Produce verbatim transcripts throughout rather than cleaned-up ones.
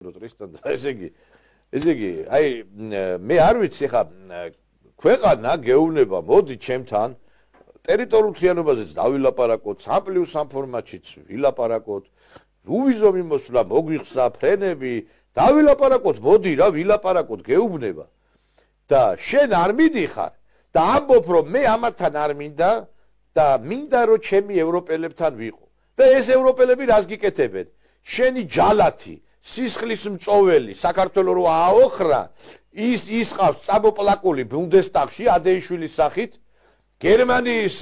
მოგწოდო ტრისტან და ესე იგი ესე იგი აი მე არ ვიცი ხა ქვეყანა გეუბნება მოდი ჩემთან ტერიტორიულ მთლიანობაზეც დავილაპარაკოთ სამპლიუს სამ ფორმატშიც ვილაპარაკოთ უვიზო მიმოსვლა მოგვიხსნა ფრენები დავილაპარაკოთ მოდი რა ვილაპარაკოთ გეუბნება და შენ არ მიდიხარ და ამბობ რომ მე ამათთან არ მინდა და მინდა რომ ჩემი ევროპელებთან ვიყო და ეს ევროპელები რას გიკეთებენ შენი ჯალათი სისხლის მწოველი საქართველოს რო აოხრა ის ისყავს წამოპლაკული ბუნდესტაგში ადეიშვილის სახით გერმანიის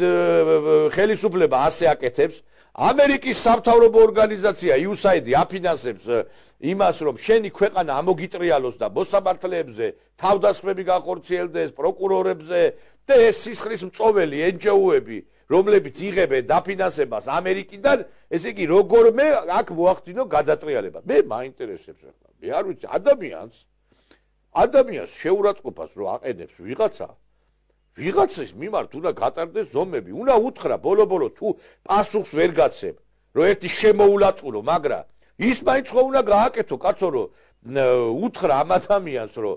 ხელისუფლება ასე აკეთებს ამერიკის სამთავრობო ორგანიზაცია იუ ეს έი დი აფინანსებს იმას რომ შენი ქვეყანა ამოგიტრიალოს და მოსამართლეებზე თავდასხმები განხორციელდეს პროკურორებზე და ეს სისხლის მწოველი ენ ჯი ო-ები რომლებიც იღებენ დაფინანსებას ამერიკიდან ესე იგი როგორმე აქ მოახდინო გადატრიალება მე მაინტერესებს ახლა მე არ ვიცი ადამიანს ადამიანს შეურაცხყოფას რო აყენებს ვიღაცა ვიღაცის მიმართ უნდა გატარდეს ზომები უნდა უთხრა ბოლო-ბოლო თუ პასუხს ვერ გაცემ რომ ერთი შემოულაწურო მაგრამ ის მაინც ხო უნდა გააკეთო კაცო რომ უთხრა ამ ადამიანს რომ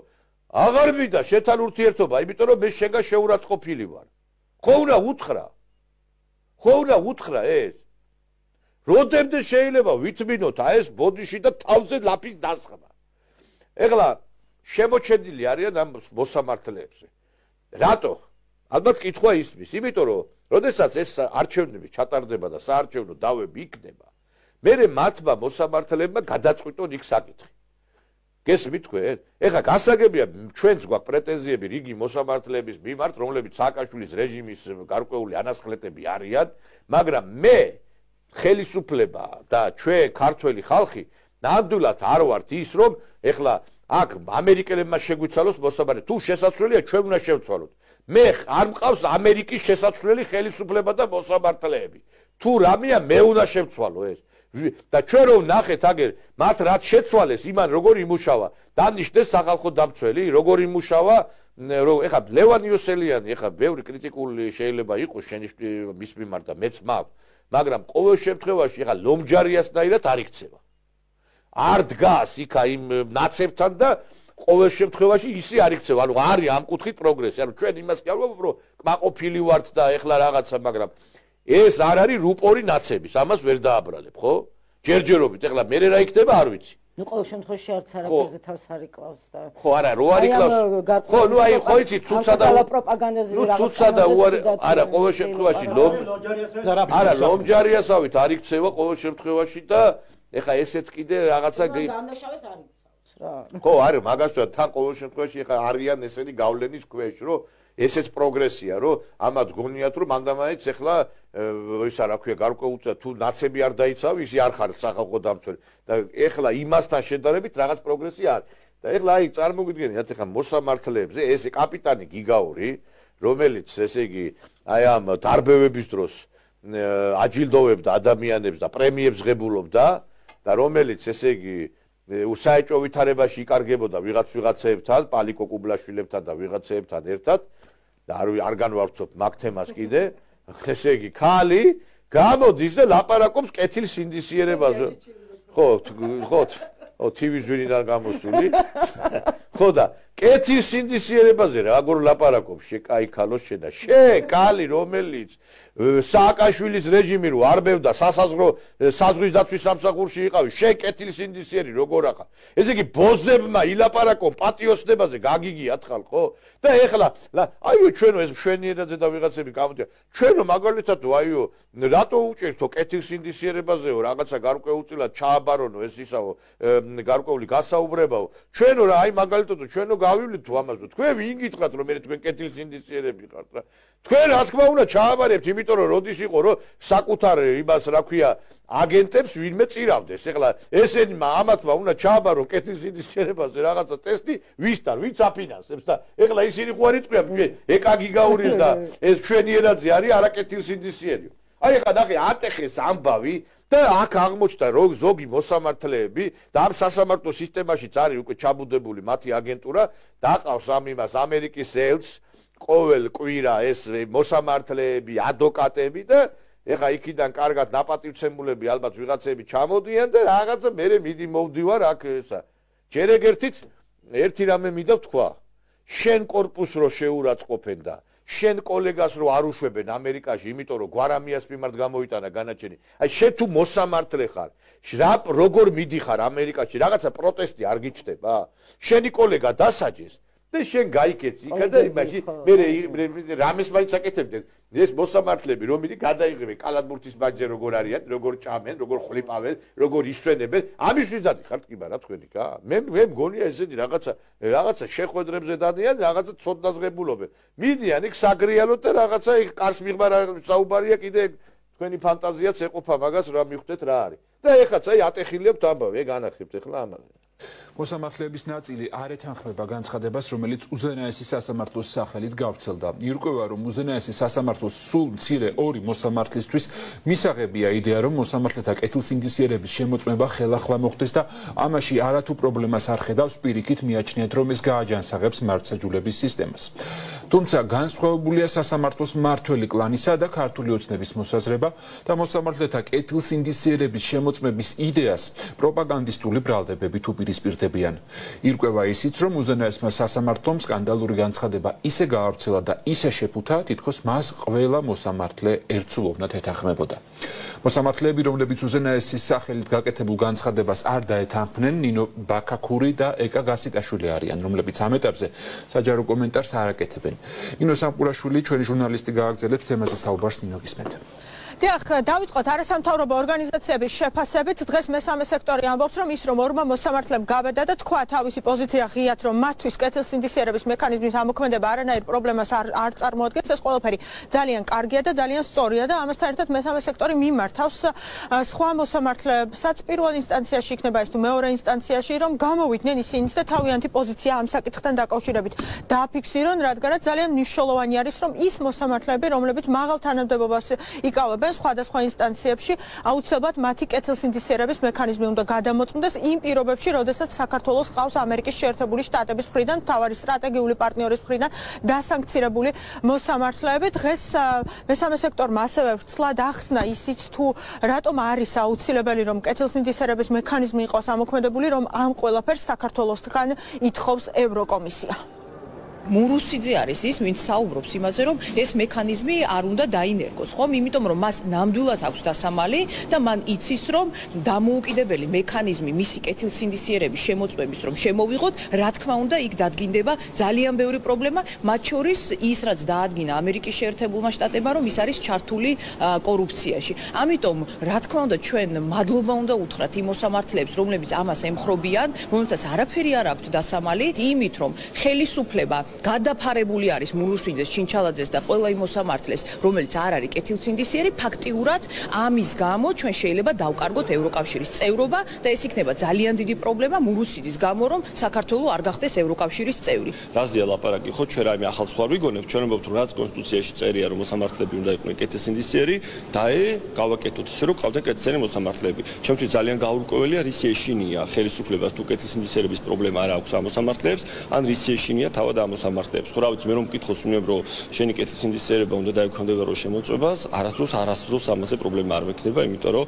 აღარ მიდა შეთან ურთიერთობა იმიტომ რომ მე შენგან შეურაცხყოფილი ვარ ხო უნდა უთხრა ხო უნდა უთხრა ეს როდემდე შეიძლება ვითმინოთ აი ეს ბოდიში და თავზე ლაფის დასხმა ეხლა შემოჩენილი არიან ამ მოსამართლეებზე რატო ალბათ კითხვა ისმის იმიტომ რომ როდესაც ეს არჩევნები ჩატარდება და საარჩევნო დავები იქნება მერე მათმა მოსამართლეებმა გადაწყვიტონ იქ საკითხი გესმით თქვენ ეხლა გასაგებია ჩვენც გვაქვს პრეტენზიები რიგი მოსამართლეების მიმართ რომლებიც სააკაშვილის რეჟიმის გარკვეული ანასხლეტები არიან მაგრამ მე ხელისუფლება და ჩვენ ქართველი ხალხი ნამდვილად არ ვართ ის რომ ეხლა აქ ამერიკელებმა შეგვიცალოს მოსამართლე თუ შესაძლებელია ჩვენ უნდა შევცვალოთ მე არ მყავს ამერიკის შესაძლებელი ხელისუფლება და მოსამართლეები თუ რამეა მე უნდა შევცვალო ეს და ჩვენ რომ ნახეთ აგერ მათ რაც შეცვალეს იმან როგორ იმუშავა დანიშნეს სახალხო დამცველი როგორ იმუშავა რომ ეხა ლევან იოსელიანი ეხა ბევრი კრიტიკული შეიძლება იყოს შენი მის მიმართ და მეც მაქვს მაგრამ ყოველ შემთხვევაში ეხა ლომჯარიასნაირად არ იქცევა არ დგას იქა იმ ნაცებთან და ყოველ შემთხვევაში ისე არ იქცევა ანუ არის ამ კუთხით პროგრესი ანუ ჩვენ იმას კი არ ვამბობ რომ კმაყოფილი ვართ და ეხლა რაღაცა მაგრამ ეს არ არის რუპორი ნაცების ამას ვერ დააბრალებ ხო ჯერჯერობით ეხლა მე რა იქნება არ ვიცი ნუ ყოველ შემთხვევაში არც არაფერზე თავს არ იკლავს და ხო არა რო არ იკლავს ხო ნუ აი ხო იცი ცუცსა და პროპაგანდაზე რაღაცა ცუცსა და არა ყოველ შემთხვევაში ლომ არა ლომჯარიასავით არ იქცევა ყოველ შემთხვევაში და ეხლა ესეც კიდე რაღაცა დამნაშავეს არ იქცევს რა ხო არა მაგასთან თან ყოველ შემთხვევაში ეხლა არიან ესენი გავლენის ქვეშ რომ ესეც პროგრესია რომ ამათ გონიათ რომ მანდამაიც ეხლა ისა რა ქვია გარკვეულწა თუ ნაცები არ დაიცავ ისი არ ხარ სახალხო დამცველი და ეხლა იმასთან შედარებით რაღაც პროგრესი არის და ეხლა აი წარმოგიდგენიათ ეხლა მოსამართლეებზე ეს კაპიტანი გიგაური რომელიც ესე იგი აი ამ დარბევების დროს აჯილდოვებდა ადამიანებს და პრემიებს ღებულობდა და რომელიც ესე იგი საეჭვო ვითარებაში იკარგებოდა ვიღაც ვიღაცეებთან პალიკო კუბლაშვილებთან და ვიღაცეებთან ერთად და არ არ განვავრცობ მაგ თემას კიდე ესე იგი ქალი გამოდის და ლაპარაკობს კეთილ სინდისიერებაზე ხო ხო ო ტივის ვინიდან გამოსული ხო და კეთილ სინდისიერებაზე როგორ ლაპარაკობს შეკაი ქალოს შედა შე კალი რომელიც სააკაშვილის რეჟიმი რო არბევდა სასაზღვრო საზღვის დაცვის სამსახურში იყავი შე კეთილ სინდისიერი როგორ ახლა ესე იგი ბოზებმა ილაპარაკონ პატიოსნებაზე გაგიგიათ ხალხო და ეხლა აიო ჩვენო ეს მშვენიერაძე და ვიღაცები გამოდიან ჩვენო მაგალითად აიო რატო უჭირთო კეთილ სინდისიერებაზეო რაღაცა გარკვეულწილად ჩააბარონო ეს ისაო გარკვეული გასაუბრებაო ჩვენო რა აი მაგალითად ჩვენო გავივლით თუ ამაზე თქვენ ვინ გითხრათ რომ მე თქვენ კეთილ სინდისიერები ხართ რა თქვენ რა თქმა უნდა ჩააბარებთ იმიტომ რომ როდის იყო რომ საკუთარ იმას რა ქვია აგენტებს ვინმე წირავდეს ეხლა ესენმა ამათმა უნდა ჩააბარო კეთილ სინდისიერებაზე რაღაცა ტესტი ვისთან ვინც აფინანსებს და ეხლა ისინი ხო არ იტყვიან ჩვენ ეკა გიგაური და ეს ჩვენიერაძე არის არაკეთილ სინდისიერიო აი ეხლა ნახე ატეხეს ამბავი და აქ აღმოჩნდა რომ ზოგი მოსამართლეები და ამ სასამართლო სისტემაშიც არის უკვე ჩაბუდებული მათი აგენტურა დაყავს ამ იმას ამერიკის ელჩს ყოველ კვირა ეს მოსამართლეები ადვოკატები და ეხა იქიდან კარგად ნაპატივცემულები ალბათ ვიღაცები ჩამოდიან და რაღაცა მე მიდი მოვდივარ აქ ესა ჯერ ეგერთით ერთი რამე მინდა ვთქვა. შენ კორპუსს რო შეურაცხყოფენ და შენ კოლეგას რო არ უშვებენ ამერიკაში, იმიტომ რომ გვარამიას მიმართ გამოიტანა განაჩენი. აი შენ თუ მოსამართლე ხარ, რა როგორ მიდიხარ ამერიკაში, რაღაცა პროტესტი არ გიჩნდება? შენი კოლეგა დასაჯეს და შენ გაიქეცი იქა და იმაში მე რამეს მაინც აკეთებდნენ. ეს მოსამართლეები რომ მიდი გადაიღებენ კალათბურთის ბაჯზე როგორ არიან, როგორ ჭამენ, როგორ ხლიპავენ, როგორ ისვენებენ. ამისთვის დადიხართ კი არა თქვენი კა? მე მე მგონია ესეთი რაღაცა რაღაცა შეხვედრებზე დადიან, რაღაცა ცოდნაზღებულობენ. მიდიან იქ საგრიალოთ და რაღაცა იქ კარს მიღმა საუბარია კიდე თქვენი ფანტაზიაც ეყოფა მაგას რა მიხვდეთ რა არის. და ეხაც აი ატეხილებთ ამბავი, ეგ ანახებთ ახლა ამაზე. მოსამართლეების ნაწილი არ ეთანხმება განცხადებას, რომელიც უზენაესი სასამართლოს სახელით გავრცელდა. ირკვევა, რომ უზენაესი სასამართლოს სულ მცირე ორი მოსამართლისთვის მისაღებია იდეა, რომ მოსამართლეთა კეთილსინდისიერების შემოწმება ხელახლა მოხდეს და ამაში არათუ პრობლემას არ ხედავს, პირიქით მიაჩნიათ, რომ ეს გააჯანსაღებს მართლმსაჯულების სისტემას. თუმცა განსხვავებულია სასამართლოს მართველი კლანისა და ქართული ოცნების მოსაზრება და მოსამართლეთა კეთილსინდისიერების შემოწმების იდეას პროპაგანდისტული ბრალდებებით უპირისპირდებიან. ირკვევა ისიც, რომ უზენაესმა სასამართლომ სკანდალური განცხადება ისე გაავრცელა და ისე შეფუთა, თითქოს მას ყველა მოსამართლე ერთსულოვნად ეთანხმებოდა. მოსამართლეები, რომლებიც უზენაესის სახელით გაკეთებულ განცხადებას არ დაეთანხმნენ, ნინო ბაქაქური და ეკა გასიკაშვილი არიან, რომლებიც ამ ეტაპზე საჯარო კომენტარს არ აკეთებენ. ნინო სამყურაშვილი, ჩვენი ჟურნალისტი გააგრძელებს თემაზე საუბარს. ნინო, გისმენთ. დიახ, დავიწყოთ არასამთავრობო ორგანიზაციების შეფასებით. დღეს მესამე სექტორი ამბობს, რომ ის რომ ორმა მოსამართლემ გავედა და თქვა თავისი პოზიცია ღიად, რომ მათთვის კეთილსინდისიერების მექანიზმის ამოქმედება არანაირ პრობლემას არ არ წარმოადგენს. ეს ყველაფერი ძალიან კარგია და ძალიან სწორია და ამასთან ერთად მესამე სექტორი მიმართავს სხვა მოსამართლებსაც პირველ ინსტანციაში იქნება ეს თუ მეორე ინსტანციაში, რომ გამოვიდნენ ისინიც და თავიანთი პოზიცია ამ საკითხთან დაკავშირებით დააფიქსირონ, რადგანაც ძალიან მნიშვნელოვანი არის, რომ ის მოსამართლეები, რომლებიც მაღალ თანამდებობას იკავებენ სხვადასხვა ინსტანციებში, აუცილებლად მათი კეთილსინდისიერების მექანიზმი უნდა გადამოწმდეს იმ პირობებში, როდესაც საქართველოს ყავს ამერიკის შეერთებული შტატების მხრიდან, მთავარი სტრატეგიული პარტნიორის მხრიდან დასანქცირებული მოსამართლეები. დღეს მესამე სექტორმა ასევე ვრცლად ახსნა ისიც თუ რატომ არის აუცილებელი, რომ კეთილსინდისიერების მექანიზმი იყოს ამოქმედებული, რომ ამ ყველაფერს საქართველოსთან ითხოვს ევროკომისია. მურუსიძე არის ის, ვინც საუბრობს იმაზე, რომ ეს მექანიზმი არ უნდა დაინერგოს, ხომ? იმიტომ რომ მას ნამდვილად აქვს დასამალი და მან იცის, რომ დამოუკიდებელი მექანიზმი მისი კეთილსინდისიერების შემოწმების რომ შემოვიღოთ, რა თქმა უნდა, იქ დადგინდება ძალიან ბევრი პრობლემა, მათ შორის ის, რაც დაადგინა ამერიკის შეერთებულმა შტატებმა, რომ ის არის ჩართული კორუფციაში. ამიტომ, რა თქმა უნდა, ჩვენ მადლობა უნდა უთხრათ იმ მოსამართლეებს, რომლებიც ამას ემხრობიან, რომელთაც არაფერი არ აქვთ დასამალი, იმით, რომ ხელისუფლება გადაფარებული არის მურუსიძეს, ჩინჩალაძეს და ყველა იმ მოსამართლეს, რომელიც არ არის კეთილსინდისიერი, ფაქტიურად ამის გამო ჩვენ შეიძლება დავკარგოთ ევროკავშირის წევრობა და ეს იქნება ძალიან დიდი პრობლემა მურუსიძის გამო, რომ საქართველო არ გახდეს ევროკავშირის წევრი. რაზეა ლაპარაკი, ხო ჩვენ რაიმე ახალ სხვა ვიგონებთ, ჩვენ ვამბობთ, რომ რაც კონსტიტუციაში წერია, რომ მოსამართლეები უნდა იყვნენ კეთილსინდისიერი, დაე გავაკეთოთ ისე, რომ ყავდნენ კეთილსინდისიერი მოსამართლეები. ჩემთვის ძალიან გაურკვეველია, რის ეშინია ხელისუფლებას თუ კეთილსინდისიერების პრობლემა არ აქვს ამ მოსამართლეებს, ან რის ეშინია თავად ამ მოსამართლეებს. ხო, რა ვიცი, მე რომ მკითხოს უნებ, რომ შენი კეთილსინდისიერება უნდა დაექვემდებარო შემოწმებას, არასდროს არასდროს ამაზე პრობლემა არ მექნება, იმიტომ რომ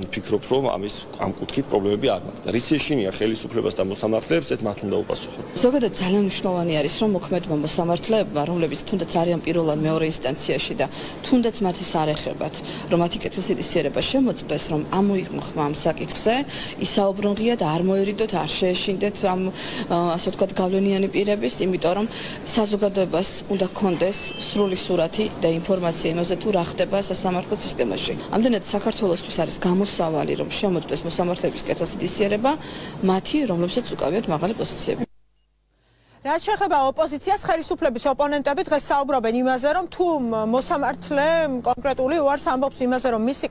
ფიქრობ, რომ ამის ამ კუთხით პრობლემები არ მაქვს. და რის ეშინია ხელისუფლებას და მოსამართლეებს, ეს მათ უნდა უპასუხო. ზოგადად ძალიან მნიშვნელოვანი არის, რომ მოქმედმა მოსამართლეებმა, რომლებიც თუნდაც არიან პირველად მეორე ინსტანციაში და თუნდაც მათი სარეხებად, რომ მათი კეთილსინდისიერება შემოწმდეს, რომ ამოიღმხმა ამ საკითხზე, ისაუბრონ ღიად, არ მოერიდოთ, არ შეეშინდეთ ამ ასე ვთქვათ გავლენიანი პირების, იმიტომ რომ საზოგადოებას უნდა ჰქონდეს სრული სურათი და ინფორმაცია იმაზე, თუ რა ხდება სასამართლო სისტემაში. ამდენად საქართველოსთვის არის გამოსავალი, რომ შემოწმდეს მოსამართლეების კეთილსინდისიერება, მათი, რომლებსაც უკავიათ მაღალი პოზიციები. რაც შეეხება ოპოზიციას, ხელისუფლების ოპონენტები დღეს საუბრობენ იმაზე, რომ თუ მოსამართლე კონკრეტული უარს ამბობს იმაზე, რომ მისი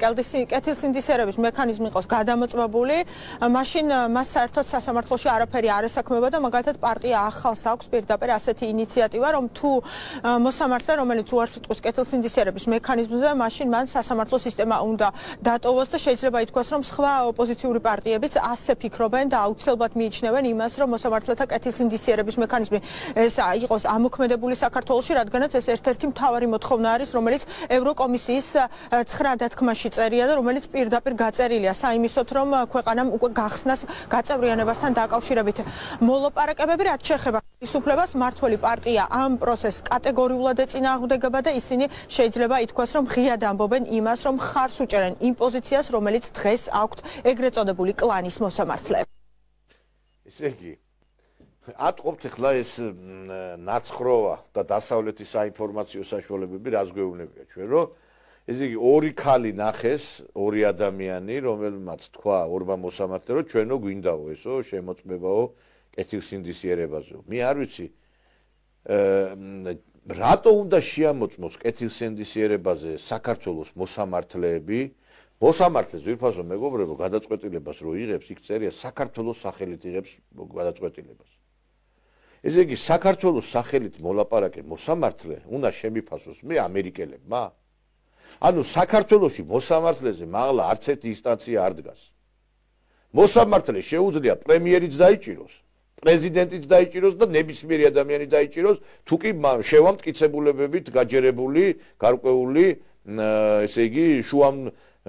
კეთილსინდისიერების მექანიზმი იყოს გადამოწმებული, მაშინ მას საერთოდ სასამართლოში არაფერი არ ესაქმება და მაგალითად პარტია ახალს აქვს პირდაპირ ასეთი ინიციატივა, რომ თუ მოსამართლე, რომელიც უარს იტყვის კეთილსინდისიერების მექანიზმზე, მაშინ მან სასამართლო სისტემა უნდა დატოვოს და შეიძლება ითქვას, რომ სხვა ოპოზიციური პარტიებიც ასე ფიქრობენ და აუცილებლად მიიჩნევენ იმას, რომ მოსამართლეთა კეთილსინდისიერების მექანიზმი მექანიზმი ეს იყოს ამოქმედებული საქართველოში, რადგანაც ეს ერთ-ერთი მთავარი მოთხოვნა არის, რომელიც ევროკომისიის ცხრა დათქმაში წერია და რომელიც პირდაპირ გაწერილია საიმისოდ, რომ ქვეყანამ უკვე გახსნას გაწევრიანებასთან დაკავშირებით. მოლაპარაკებები რაც შეეხება ხელისუფლებას, მმართველი პარტია ამ პროცესს კატეგორიულად ეწინააღმდეგება და ისინი შეიძლება ითქვას, რომ ღიად ამბობენ იმას, რომ ხარს უჭერენ იმ პოზიციას, რომელიც დღეს აქვთ ეგრეთ წოდებული კლანის მოსამართლეებს. ესე იგი, ატყობთ ახლა ეს ნაცხროვა და დასავლეთის საინფორმაციო საშუალებები რას გვეუბნებია ჩვენ, რომ ესე იგი ორი ქალი ნახეს, ორი ადამიანი, რომელმაც თქვა ორმა მოსამართლე, რომ ჩვენო გვინდაო ესო შემოწმებაო კეთილსინდისიერებაზე. მე არ ვიცი რატო უნდა შეამოწმოს კეთილსინდისიერებაზე საქართველოს მოსამართლეები? მოსამართლე ძვირფასო მეგობრებო, გადაწყვეტილებას რო იღებს, იქ წერია საქართველოს სახელით იღებს გადაწყვეტილებას. ესე იგი, საქართველოს სახელით მოლაპარაკე მოსამართლე უნდა შემიფასოს მე ამერიკელებმა? ანუ საქართველოში მოსამართლეზე მაღლა არც ერთი ინსტანცია არ დგას. მოსამართლე შეუძლია პრემიერიც დაიჭიროს, პრეზიდენტიც დაიჭიროს და ნებისმიერი ადამიანი დაიჭიროს, თუ კი შევამტკიცებულებებით გაჯერებული, გარკვეული, ესე იგი, შუამ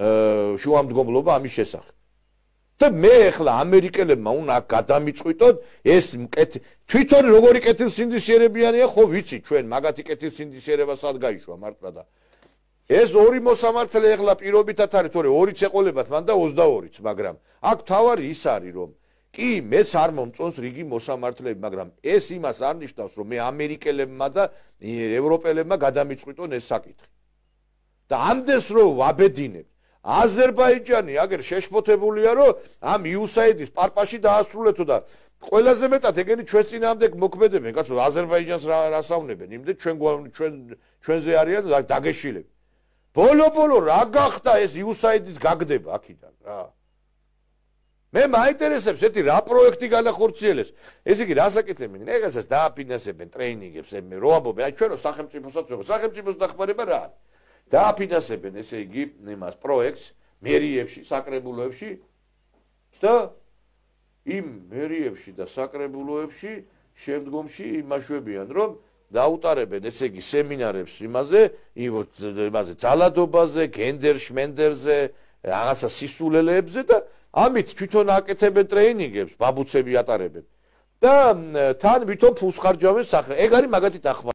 შუამდგომლობა ამის შესახებ. და მე ახლა ამერიკელებმა უნდა გადამიწყვიტოთ ეს თვითონ როგორი კეთილსინდისიერებიანია, ხო ვიცი ჩვენ მაგათი კეთილსინდისიერება სად გაიშვა მართლა და ეს ორი მოსამართლე ახლა პირობითად არის, თორე ორიც ეყოლებათ მან და ოცდაორიც, მაგრამ აქ თავარი ის არის, რომ კი მეც არ მომწონს რიგი მოსამართლეები, მაგრამ ეს იმას არ ნიშნავს, რომ მე ამერიკელებმა და ევროპელებმა გადამიწყვიტონ ეს საკითხი. და ამდენს რო ვაბედინებ, აზერბაიჯანი აგერ შეშფოთებულია, რომ ამ იუსაიდის პარპაში დაასრულეთო და ყველაზე მეტად ეგენი ჩვენ წინააღმდეგ მოქმედებენ, კაცო, აზერბაიჯანს რასაუნებენ, იმდენ ჩვენ ჩვენ ჩვენზე არიან დაგეშილები. ბოლო-ბოლო რა გახდა ეს იუსაიდის გაგდება აქიდან რა? მე მაინტერესებს ერთი რა პროექტი განახორციელეს. ესე იგი, რასაკეთებენ? ეგაცაც დააფინანსებენ ტრეინინგებს, ემე რო ამბობენ, აი ჩვენო სახელმწიფოსაც ვეღარ, სახელმწიფოს დახმარება რა არის? დააფინანსებენ, ესე იგი, იმას პროექტს მერიებში, საკრებულოებში და იმ მერიებში და საკრებულოებში შემდგომში იმაშვებიან, რომ დაუტარებენ, ესე იგი, სემინარებს იმაზე, იმაზე ძალადობაზე, გენდერ შმენდერზე, რაღაცა სისულელეებზე და ამით თვითონ აკეთებენ ტრეინინგებს, ბაბუცები ატარებენ და თან ვითომ ფულს ხარჯავენ სახე. ეგ არის მაგათი დახმარება.